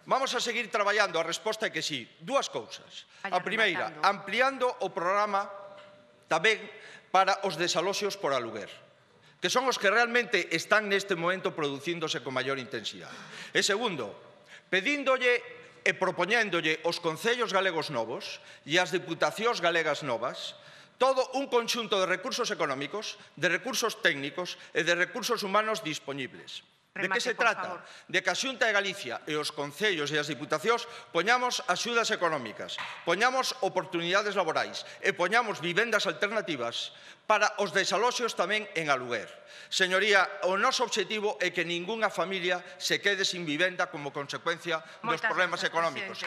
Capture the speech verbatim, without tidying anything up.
Vamos a seguir traballando, a resposta é que sí. Dúas cousas. A primeira, ampliando o programa tamén para os desaloxos por aluguer, que son os que realmente están neste momento producíndose con maior intensidade. E segundo, pedíndolle e propoñéndolle aos concellos galegos novos e ás diputacións galegas novas todo un conxunto de recursos económicos, de recursos técnicos e de recursos humanos dispoñibles. De que se trata? De que a Xunta de Galicia e os concellos e as diputacións poñamos axudas económicas, poñamos oportunidades laborais e poñamos vivendas alternativas para os desaloxos tamén en aluguer. Señoría, o noso obxectivo é que ningunha familia se quede sin vivenda como consecuencia dos problemas económicos.